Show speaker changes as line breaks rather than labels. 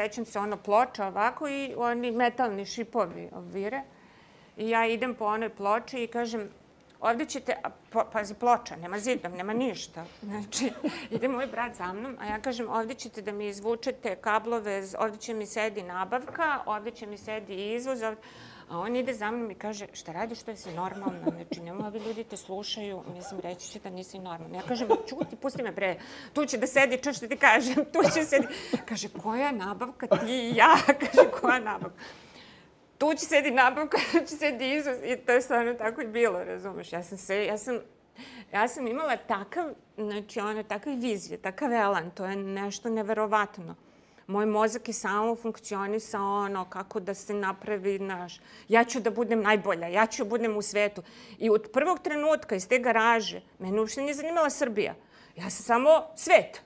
sećam se ploča ovako i oni metalni šipovi vire. I ja idem po onoj ploči i kažem, ovdje ćete, pazi ploča, nema zidom, nema ništa. Znači, ide moj brat za mnom, a ja kažem, ovdje ćete da mi izvučete kablove, ovdje će mi sedi nabavka, ovdje će mi sedi izvoz, a on ide za mnom i kaže, šta radiš, što jesi normalna? Znači, nemoj, ovi ljudi te slušaju, mislim, reći će da nisi normalna. Ja kažem, čuti, pusti me bre, tu će da sedi, čuš što ti kažem, tu će sedi. Kaže, koja nabavka, ti i ja? Kaže, koja nabavka? Tu će sedi nabavka, tu će sedi izvoz i to je stvarno tako i bilo, razumeš? Ja sam imala takav, znači, takve vizije, takav elan, to je nešto neverovatno. Moj mozak je samo funkcionisao kako da se napravi, ja ću da budem najbolja, ja ću da budem u svetu. I od prvog trenutka iz te garaže, mene uopšte nije zanimala Srbija. Ja sam samo svet.